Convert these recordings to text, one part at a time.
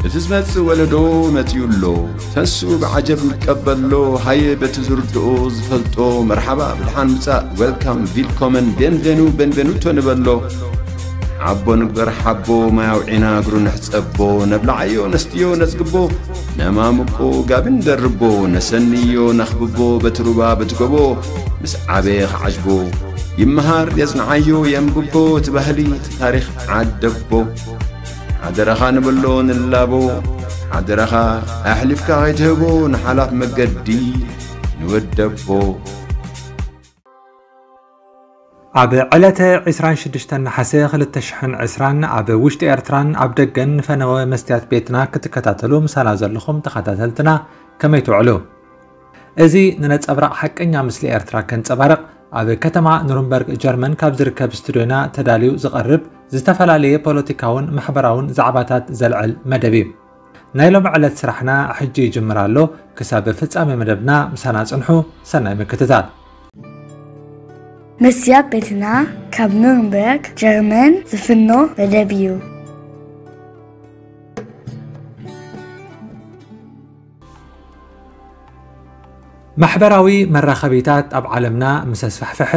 እቲ ዝመጽእ ወለዶ መጺኡ ኣሎ። ተስኡ ብዓጀብ ይቀበሎ። ሃየ በቲ ዝርድኦ ዝፈልጦ መርሓባ ብድሓን ምጻእ፣ ዌልካም፣ ቪልኮመን፣ ቤንቬኑ፣ ቤንቬኑቶ ንበሎ። ሓቦ ንግበር ሓቦ፣ ማይ ኣውዒና እግሩ ንሕጸቦ። ነብልዓዮ ነስትዮ ነጽግቦ፣ ነማምቆ ጋቢ ንደርቦ። ነሰንዮ ነኽብቦ በቲ ሩባ በቲ ጎቦ። ምስ ዓበየ ክዓጅቦ ይመሃር የጽንዓዮ የንብቦ። እቲ ባህሊ እቲ ታሪኽ ዓደቦ። ሓደራኻ ንብሎ ንላቦ። ሓደራኻ ኣሕሊፍካ ከይትህቦ ንሓላፍ መገዲ ንወደቦ። ኣብ ዕለተ ዕስራን ሽዱሽተን ነሓሰ ክልተ ሽሕን ዕስራን ኣብ ውሽጢ ኤርትራን ኣብ ደገን ንፈነወ መስትያት ቤትና ክትከታተሉ ምሳና ዘለኹም ተኸታተልትና ከመይ ትውዕሉ? እዚ ንነጸብራቕ ሓቀኛ ምስሊ ኤርትራ ከንጸባርቕ ኣብ ከተማ ኑርንበርግ ጀርመን ካብ ዝርከብ ስቱድዮና ተዳልዩ ዝቐርብ ዝተፈላለየ ፖለቲካውን ማሕበራውን ዛዕባታት ዘልዕል መደብ እዩ። ናይ ሎሚ ዕለት ስራሕና ሕጂ ይጅምር ኣሎ። ክሳብ ፍጻሜ መደብና ምሳና ጽንሑ። ሰናይ ምክትታል። መስትያት ቤትና ካብ ኑርንበርግ ጀርመን ዝፍኖ መደብ እዩ። ማሕበራዊ መራኸቢታት ኣብ ዓለምና ምስ ኣስፋሕፈሐ፣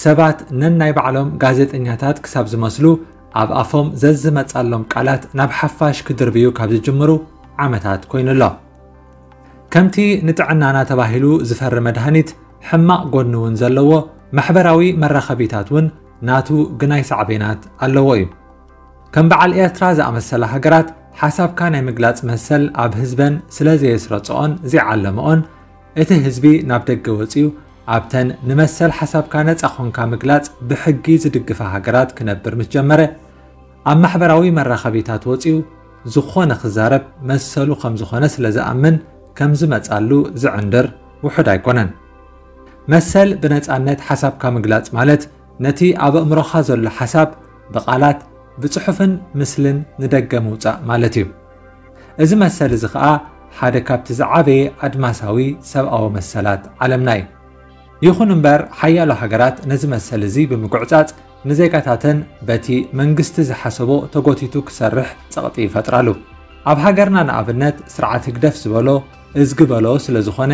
ሰባት ነናይ ባዕሎም ጋዜጠኛታት ክሳብ ዝመስሉ ኣብ ኣፎም ዘዝመጻሎም ቃላት ናብ ሓፋሽ ክድርብዩ ካብ ዝጅምሩ ዓመታት ኮይኑ ኣሎ። ከምቲ ንጥዕናና ተባሂሉ ዝፈሪ መድሃኒት ሕማቕ ጎኒ እውን ዘለዎ፣ ማሕበራዊ መራኸቢታት እውን ናቱ ግናይ ሳዕቤናት ኣለዎ እዩ። ከም በዓል ኤርትራ ዝኣመሰላ ሃገራት ሓሳብካ ናይ ምግላጽ መሰል ኣብ ህዝበን ስለ ዘየስረጽኦን ዘይዓለመኦን፣ እቲ ህዝቢ ናብ ደገ ወጺኡ ኣብተን ንመሰል ሓሳብካ ነጻ ኾንካ ምግላጽ ብሕጊ ዝድግፋ ሃገራት ክነብር ምስ ጀመረ፣ ኣብ ማሕበራዊ መራኸቢታት ወጺኡ ዝኾነ ክዛረብ መሰሉ ከም ዝኾነ ስለ ዝኣምን ከም ዝመጻሉ ዝዕንድር ውሑድ ኣይኮነን። መሰል ብነጻነት ሓሳብካ ምግላጽ ማለት ነቲ ኣብ ኣእምሮኻ ዘሎ ሓሳብ ብቓላት፣ ብጽሑፍን ምስልን ንደገ ምውጻእ ማለት እዩ። እዚ መሰል እዚ ኸኣ ሓደ ካብቲ ዝዓበየ ኣድማሳዊ ሰብኣዊ መሰላት ዓለምና እዩ። ይኹን እምበር፣ ሓያሎ ሃገራት ነዚ መሰል እዚ ብምጉዕጻጽ ንዜጋታተን በቲ መንግስቲ ዝሓሰቦ ተጎቲቱ ክሰርሕ ጸቕጢ ይፈጥራሉ። ኣብ ሃገርና ንኣብነት ስርዓት ህግደፍ ዝበሎ እዝጊ በሎ ስለ ዝኾነ፣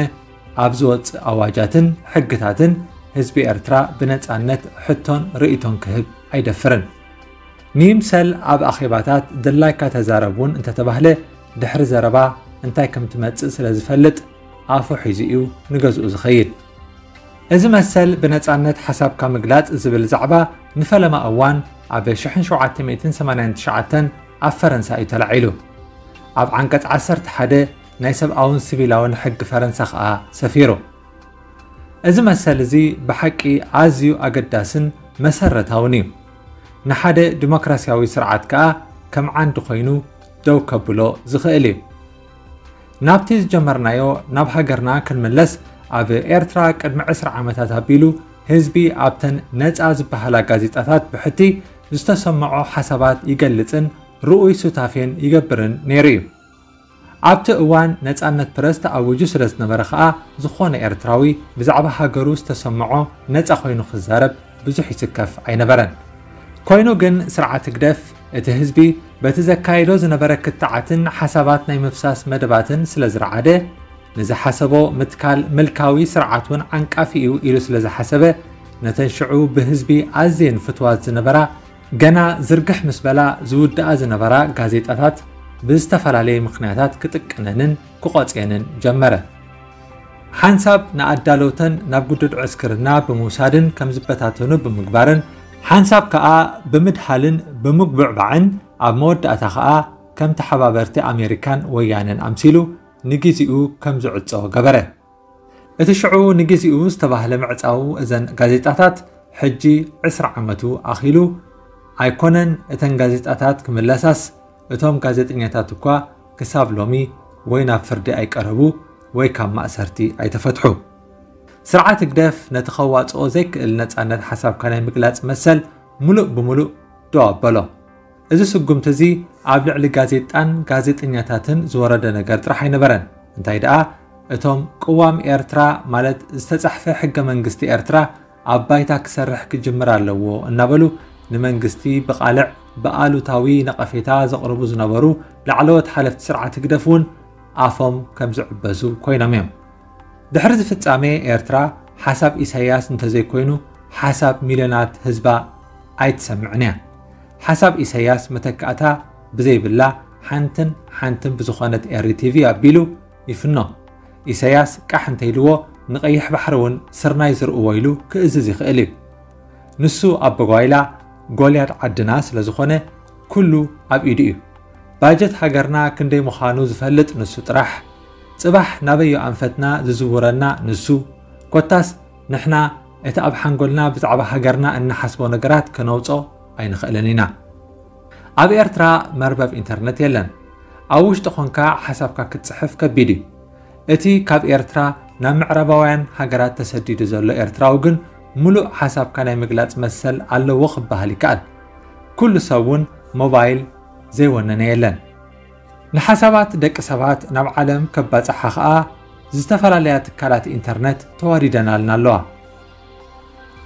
ኣብ ዝወጽእ ኣዋጃትን ሕግታትን ህዝቢ ኤርትራ ብነጻነት ሕቶን ርእይቶን ክህብ ኣይደፍርን። ንይምሰል ኣብ ኣኼባታት ድላይካ ተዛረብ እውን እንተተባህለ፣ ድሕሪ ዘረባ እንታይ ከም ትመጽእ ስለ ዝፈልጥ ኣፉ ሒዙ እዩ ንገዝኡ ዝኸይድ። እዚ መሰል ብነጻነት ሓሳብካ ምግላጽ ዝብል ዛዕባ ንፈለማ እዋን ኣብ ሽሕን ሸውዓተ ሚእትን ሰማንያን ትሽዓተን ኣብ ፈረንሳ እዩ ተላዒሉ። ኣብ ዓንቀጽ ዓሰርተ ሓደ ናይ ሰብኣውን ሲቪላውን ሕጊ ፈረንሳ ኸኣ ሰፊሩ። እዚ መሰል እዚ ብሓቂ ኣዝዩ ኣገዳስን መሰረታውን እዩ። ንሓደ ዲሞክራሲያዊ ስርዓት ከኣ ከም ዓንዲ ኮይኑ ደው ከብሎ ዝኽእል እዩ። ናብቲ ዝጀመርናዮ ናብ ሃገርና ክንምለስ፣ ኣብ ኤርትራ ቅድሚ ዕስራ ዓመታት ኣቢሉ ህዝቢ ኣብተን ነጻ ዝበሃላ ጋዜጣታት ብሕቲ ዝተሰምዖ ሓሳባት ይገልጽን ርኡይ ሱታፌን ይገብርን ነይሩ እዩ። ኣብቲ እዋን ነጻነት ፕረስ ተኣዊጁ ስለ ዝነበረ ኸኣ፣ ዝኾነ ኤርትራዊ ብዛዕባ ሃገሩ ዝተሰምዖ ነጻ ኮይኑ ክዛረብ ብዙሕ ይስከፍ ኣይነበረን። ኮይኑ ግን ስርዓት ህግደፍ እቲ ህዝቢ በቲ ዘካይዶ ዝነበረ ክትዓትን ሓሳባት ናይ ምፍሳስ መደባትን ስለ ዝረዓደ፣ ንዝሓሰቦ ምትካል ምልካዊ ስርዓት እውን ዓንቃፊ እዩ ኢሉ ስለ ዝሓሰበ፣ ነተን ሽዑ ብህዝቢ ኣዝየን ፍትዋት ዝነበራ፣ ገና ዝርግሕ ምስ በላ ዝውድኣ ዝነበራ ጋዜጣታት ብዝተፈላለየ ምኽንያታት ክጥቀነንን ክቖጽየንን ጀመረ። ሓንሳብ ንኣዳለውተን ናብ ግዱድ ዕስክርና ብምውሳድን ከም ዝበታተኑ ብምግባርን፣ ሓንሳብ ከኣ ብምድሃልን ብምጉብዕባዕን፣ ኣብ መወዳእታ ከኣ ከም ተሓባበርቲ ኣሜሪካን ወያነን ኣምሲሉ ንግዜኡ ከም ዝዕጾ ገበረ። እቲ ሽዑ ንግዜኡ ዝተባህለ ምዕጻው እዘን ጋዜጣታት፣ ሕጂ ዕስራ ዓመቱ ኣኺሉ ኣይኮነን፣ እተን ጋዜጣታት ክምለሳስ፣ እቶም ጋዜጠኛታት እኳ ክሳብ ሎሚ ወይ ናብ ፍርዲ ኣይቀረቡ ወይ ካብ ማእሰርቲ ኣይተፈትሑ። ስርዓት ህግደፍ ነቲ ከዋጽኦ ዘይክእል ነጻነት ሓሳብካ ናይ ምግላጽ መሰል ምሉእ ብምሉእ ደው ኣበሎ። እዚ ስጉምቲ እዚ ኣብ ልዕሊ ጋዜጣን ጋዜጠኛታትን ዝወረደ ነገር ጥራሕ ኣይነበረን። እንታይ ደኣ፣ እቶም ቅዋም ኤርትራ፣ ማለት ዝተጻሕፈ ሕገ መንግስቲ ኤርትራ፣ ኣብ ባይታ ክሰርሕ ክጅምር ኣለዎ እናበሉ ንመንግስቲ ብቓልዕ ብኣሉታዊ ነቐፌታ ዘቕርቡ ዝነበሩ ላዕለዎት ሓለፍቲ ስርዓት ህግደፍ እውን ኣፎም ከም ዝዕበሱ ኮይኖም እዮም። ድሕሪ እዚ ፍጻሜ ኤርትራ ሓሳብ ኢሳያስ እንተዘይኮይኑ ሓሳብ ሚልዮናት ህዝባ ኣይትሰምዕን እያ። ሓሳብ ኢሳያስ መተካእታ ብዘይብላ ሓንትን ሓንትን ብዝኾነት ኤሪ ቲቪ ኣቢሉ ይፍኖ። ኢሳያስ ቃሕ እንተይልዎ ንቐይሕ ባሕሪ እውን ስርናይ ዝርእዎ ኢሉ ክእዝዝ ይኽእል እዩ። ንሱ ኣበጓይላ ጎልያድ ዓድና ስለ ዝኾነ ኩሉ ኣብ ኢዱ እዩ። ባጀት ሃገርና ክንደይ ምዃኑ ዝፈልጥ ንሱ ጥራሕ። ጽባሕ ናበዮ ኣንፈትና ዝዝውረና ንሱ። ኮታስ ንሕና እቲ ኣብ ሓንጎልና ብዛዕባ ሃገርና እንሓስቦ ነገራት ከነውጾ ኣይንኽእልን ኢና። ኣብ ኤርትራ መርበብ ኢንተርነት የለን። ኣብ ውሽጢ ኾንካ ሓሳብካ ክትጽሕፍ ከቢድ እዩ። እቲ ካብ ኤርትራ ናብ ምዕራባውያን ሃገራት ተሰዲዱ ዘሎ ኤርትራዊ ግን ምሉእ ሓሳብካ ናይ ምግላጽ መሰል ኣለዎ ክበሃል ይከኣል። ኩሉ ሰብ እውን ሞባይል ዘይወነነ የለን። ንሓሳባት ደቂ ሰባት ናብ ዓለም ከባጽሓ ኸኣ ዝተፈላለያ ትካላት ኢንተርነት ተዋዲደናልና ኣለዋ።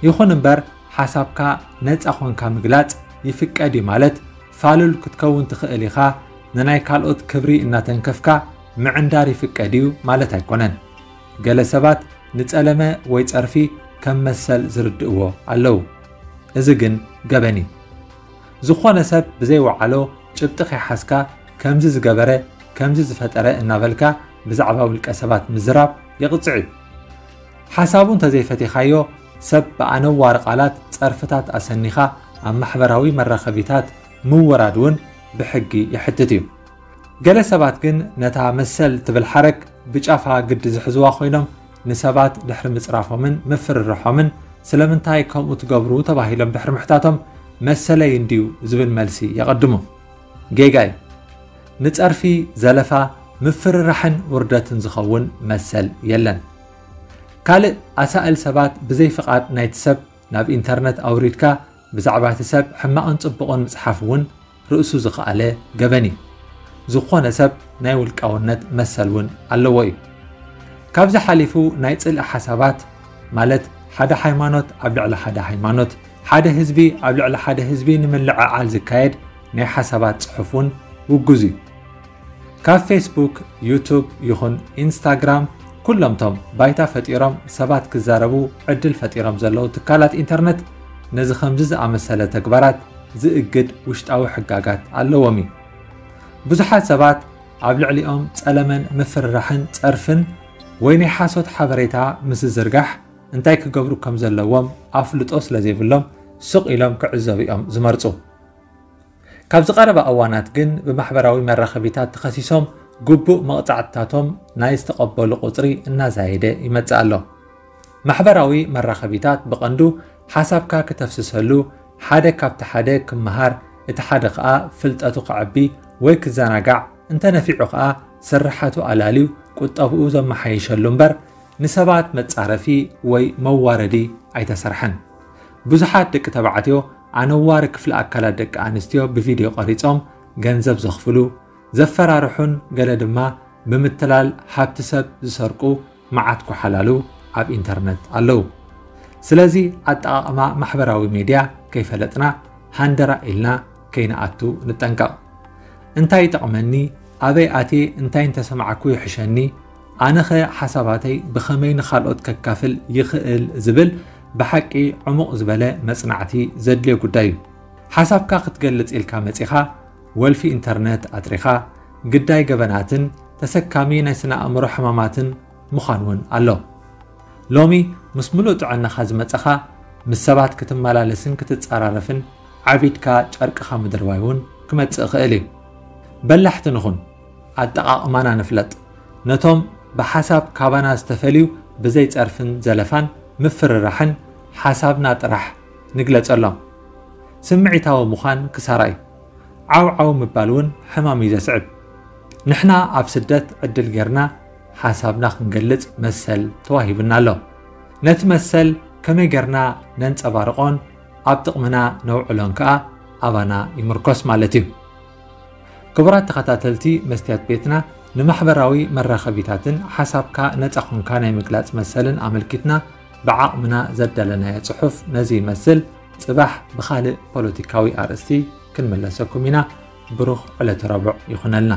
ይኹን እምበር ሓሳብካ ነጻ ኾንካ ምግላጽ ይፍቀድ እዩ ማለት ፋሉል ክትከውን ትኽእል ኢኻ፣ ንናይ ካልኦት ክብሪ እናተንከፍካ ምዕንዳር ይፍቀድ እዩ ማለት ኣይኮነን። ገለ ሰባት ንጸለመ ወይ ጸርፊ ከም መሰል ዝርድእዎ ኣለዉ። እዚ ግን ገበን እዩ። ዝኾነ ሰብ ብዘይወዓሎ ጭብጢ ከይሓዝካ ከምዚ ዝገበረ ከምዚ ዝፈጠረ እናበልካ ብዛዕባ ውልቀ ሰባት ምዝራብ የቕጽዕ እዩ። ሓሳቡ እንተዘይፈቲኻዮ ሰብ ብኣነዋሪ ቃላት ጸርፍታት ኣሰኒኻ ኣብ ማሕበራዊ መራኸቢታት ምውራድ እውን ብሕጊ የሕትት እዩ። ገለ ሰባት ግን ነታ መሰል ትብል ሓረግ ብጫፋ ግዲ ዝሕዝዋ ኮይኖም ንሰባት ድሕሪ ምጽራፎምን ምፍርርሖምን ስለምንታይ ከምኡ ትገብሩ ተባሂሎም ድሕሪ ምሕታቶም መሰለይ እንድዩ ዝብል መልሲ የቐድሙ። ጌጋ እዩ። ንጸርፊ፣ ዘለፋ፣ ምፍርራሕን ውርደትን ዝኸውን መሰል የለን። ካልእ ኣሳእል ሰባት ብዘይ ፍቓድ ናይቲ ሰብ ናብ ኢንተርነት ኣውሪድካ ብዛዕባ እቲ ሰብ ሕማቕን ጽቡቕን ምጽሓፍ እውን ርእሱ ዝኸኣለ ገበን እዩ። ዝኾነ ሰብ ናይ ውልቃውነት መሰል እውን ኣለዎ እዩ። ካብዚ ሓሊፉ ናይ ጽልኢ ሓሳባት ማለት ሓደ ሃይማኖት ኣብ ልዕሊ ሓደ ሃይማኖት፣ ሓደ ህዝቢ ኣብ ልዕሊ ሓደ ህዝቢ ንምልዕዓል ዝካየድ ናይ ሓሳባት ጽሑፍ እውን ውጉዝ እዩ። ካብ ፌስቡክ፣ ዩቱብ ይኹን ኢንስታግራም ኩሎምቶም ባይታ ፈጢሮም ሰባት ክዛረቡ ዕድል ፈጢሮም ዘለዉ ትካላት ኢንተርነት ነዚ ከምዚ ዝኣመሰለ ተግባራት ዝእግድ ውሽጣዊ ሕጋጋት ኣለዎም እዩ። ብዙሓት ሰባት ኣብ ልዕሊኦም ጸለመን ምፍርራሕን ጸርፍን ወይ ናይ ሓሶት ሓበሬታ ምስ ዝዝርጋሕ እንታይ ክገብሩ ከም ዘለዎም ኣፍልጦ ስለ ዘይብሎም ስቕ ኢሎም ክዕዘቡ እዮም ዝመርጹ። ካብዚ ቀረባ እዋናት ግን ብማሕበራዊ መራኸቢታት ተኸሲሶም ግቡእ መቕጻዕትታቶም ናይ ዝተቐበሉ ቁጽሪ እናዛየደ ይመጽእ ኣሎ። ማሕበራዊ መራኸቢታት ብቐንዱ ሓሳብካ ክተፍስሰሉ፣ ሓደ ካብቲ ሓደ ክመሃር፣ እቲ ሓደ ከኣ ፍልጠቱ ከዕቢ ወይ ክዘናጋዕ፣ እንተነፊዑ ከኣ ስርሓቱ ኣላልዩ ቁጠብኡ ዘመሓይሸሉ እምበር ንሰባት መጻረፊ ወይ መዋረዲ ኣይተሰርሐን። ብዙሓት ደቂ ተባዕትዮ ኣነዋሪ ክፍሊ ኣካላት ደቂ ኣንስትዮ ብቪድዮ ቀሪጾም ገንዘብ ዘኽፍሉ፣ ዘፈራርሑን ገለ ድማ ብምትላል ሃብቲ ሰብ ዝሰርቁ መዓት ኮሓላሉ ኣብ ኢንተርነት ኣለዉ። ስለዚ ኣጠቓቕማ ማሕበራዊ ሜድያ ከይፈለጥና ሃንደራ ኢልና ከይንኣቱ ንጠንቀቕ። እንታይ ይጠቕመኒ፣ ኣበይ ኣትየ እንታይ እንተሰማዕኩ ይሕሸኒ፣ ኣነኸ ሓሳባተይ ብኸመይ ንኻልኦት ከካፍል ይኽእል ዝብል ብሓቂ ዕሙቕ ዝበለ መጽናዕቲ ዘድልዮ ጉዳይ እዩ። ሓሳብካ ክትገልጽ ኢልካ መጺኻ ወልፊ ኢንተርነት ኣጥሪኻ ግዳይ ገበናትን ተሰካሚ ናይ ስነ ኣእምሮ ሕማማትን ምዃን እውን ኣሎ። ሎሚ ምስ ምሉእ ጥዕናኻ ዝመጸኻ ምስ ሰባት ክትመላለስን ክትጸራረፍን ዓቢድካ ጨርቅኻ ምድርባይ እውን ክመጽእ ይኽእል እዩ። በላሕቲ ንኹን፣ ኣጠቓቕማና ንፍለጥ። ነቶም ብሓሳብ ካባና ዝተፈልዩ ብዘይ ጸርፍን ዘለፋን ምፍርራሕን ሓሳብና ጥራሕ ንግለጸሎም። ስምዒታዊ ምዃን ክሳራ እዩ። ዓው ዓው ምባል እውን ሕማም እዩ ዘስዕብ። ንሕና ኣብ ስደት ዕድል ጌርና ሓሳብና ክንገልጽ መሰል ተዋሂቡና ኣሎ። ነቲ መሰል ከመይ ጌርና ነንጸባርቖን ኣብ ጥቕምና ነውዕሎን ከኣ ኣባና ይምርኮስ ማለት እዩ። ክቡራት ተኸታተልቲ መስትያት ቤትና፣ ንማሕበራዊ መራኸቢታትን ሓሳብካ ነጻ ኾንካ ናይ ምግላጽ መሰልን ኣመልኪትና ብዓቕምና ዘዳለናዮ ጽሑፍ ነዚ ይመስል። ጽባሕ ብኻልእ ፖለቲካዊ ኣርእስቲ ክንምለሰኩም ኢና። ብሩኽ ዕለተ ረቡዕ ይኹነልና።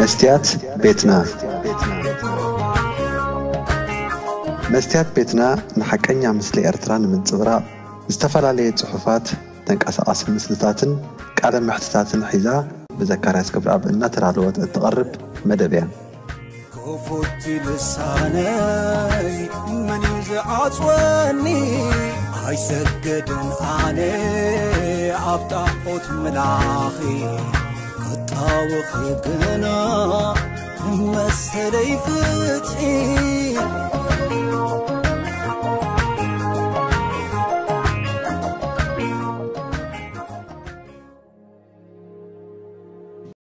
መስትያት ቤትና። መስትያት ቤትና ንሓቀኛ ምስሊ ኤርትራ ንምንጽብራቕ ዝተፈላለየ ጽሑፋት፣ ተንቀሳቓሲ ምስልታትን ቃለ መሕትታትን ሒዛ ብዘካርያስ ገብረኣብ እናተዳለወት እትቐርብ መደብ እያ። ክፉት ልሳነይ መን እዩ ዝዓጽወኒ? ኣይሰገድን ኣነ ኣብ ጣዖት ምላኺ ክጣወኺ ግና መሰለይ ፍትሒ።